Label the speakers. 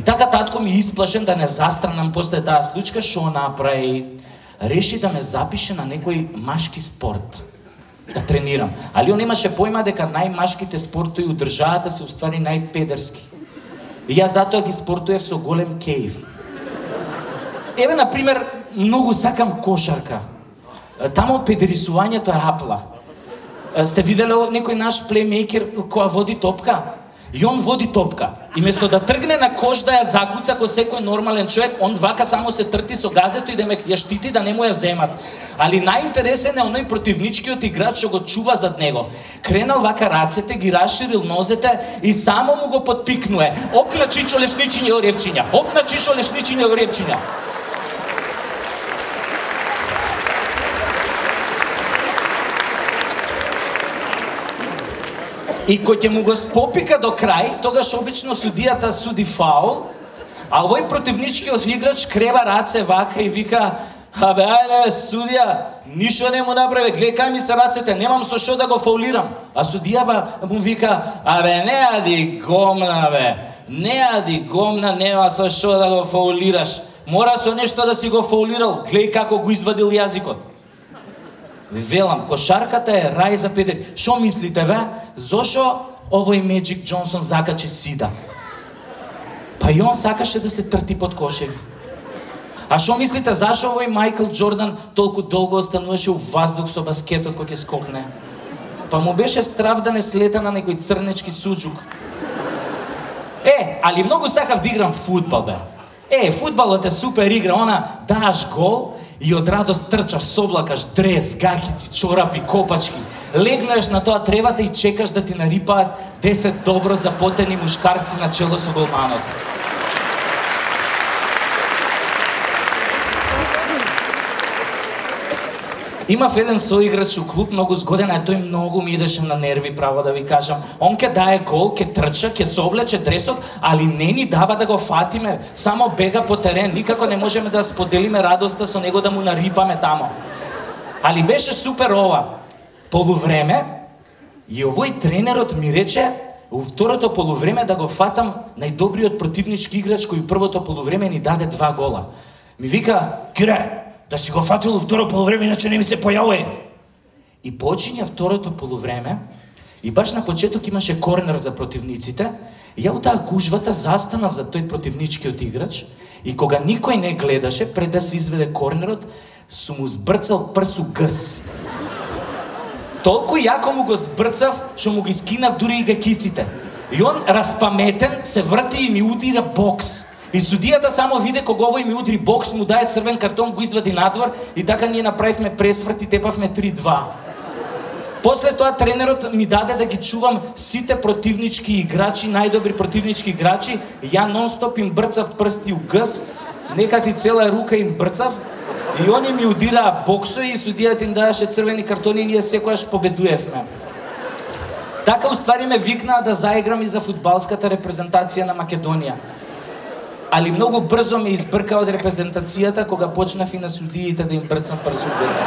Speaker 1: така татко ми исплашен да не застранам после таа случка, шо направи? Реши да ме запише на некој машки спорт. Да тренирам. Али он имаше појма дека најмашките спортови у државата се уствари најпедерски. И јас затоа ги спортуев со голем кејф. Еве, например, многу сакам кошарка. Тамо педерисувањето е апла. Сте виделе некој наш плеймейкер која води топка? И он води топка. И место да тргне на кош да ја закуца ко секој нормален човек, он вака само се трти со газето и да ме ја штити да не му ја земат. Али најинтересен е оној противничкиот играч што го чува зад него. Кренал вака рацете, ги расширил нозете и само му го подпикнуе. Окна чичо лешничиња оревчиња. Окна чичо лешничиња оревчиња. И кој ќе му го спопика до крај, тогаш обично судијата суди фаул, а овој противничкиот играч крева раце вака и вика: "Абе, ајде, судија, ништо не му направи, гледај кај ми се рацете, немам со што да го фаулирам." А судијава му вика: "Абе, не ади гомна, бе, не ади гомна, нема со што да го фаулираш. Мора со нешто да си го фаулирал, гледај како го извадил јазикот." Велам, кошарката е рај за педери. Шо мислите, бе? Зошо овој Меджик Џонсон закачи сида? Па и он сакаше да се трти под кошеви. А шо мислите, зашо овој Мајкл Џордан толку долго остануваше у ваздух со баскетот кој ќе скокне? Па му беше страв да не слета на некој црнечки суџук. Али многу сакав да играм фудбал, бе. Фудбалот е супер игра, она дааш гол и од радост трчаш, соблакаш дрес, гакици, чорапи, копачки. Легнеш на тоа тревата и чекаш да ти нарипаат 10 добро запотени мушкарци на чело со голманот. Имав еден соиграч у клуб, многу згоден, а тој многу ми идеше на нерви, право да ви кажам. Он ке дае гол, ке трча, ке се облече дресот, али не ни дава да го фатиме. Само бега по терен, никако не можеме да споделиме радоста со него, да му нарипаме тамо. Али беше супер ова. Полувреме, и овој тренерот ми рече у второто полувреме да го фатам најдобриот противнички играч кој у првото полувреме ни даде 2 гола. Ми вика: "Кире, да си го фатил второ полувреме, иначе не ми се појавува." И почиња второто полувреме, и баш на почеток имаше корнер за противниците, и ја у таа гужвата застанав за тој противничкиот играч, и кога никој не гледаше, пред да се изведе корнерот, сум му збрцал прсу гъс. Толку јако му го збрцав, што му ги скинав дури и гакиците. И он, распаметен, се врти и ми удира бокс. И судијата само виде кога овој ми удри бокс, му даде црвен картон, го извади надвор и така ние направивме пресврт и тепавме 3-2. После тоа тренерот ми даде да ги чувам сите противнички играчи, најдобри противнички играчи, ја нон-стоп им брцав прсти у гъс, нека ти цела рука им брцав, и они ми удираа боксови и судијата им даваше црвени картони и ние секојаш победуевме. Така уствари ме викнаа да заиграм и за фудбалската репрезентација на Македонија. Али многу брзо ме избрка од репрезентацијата кога почнав и на судиите да им брцам прсу гъс.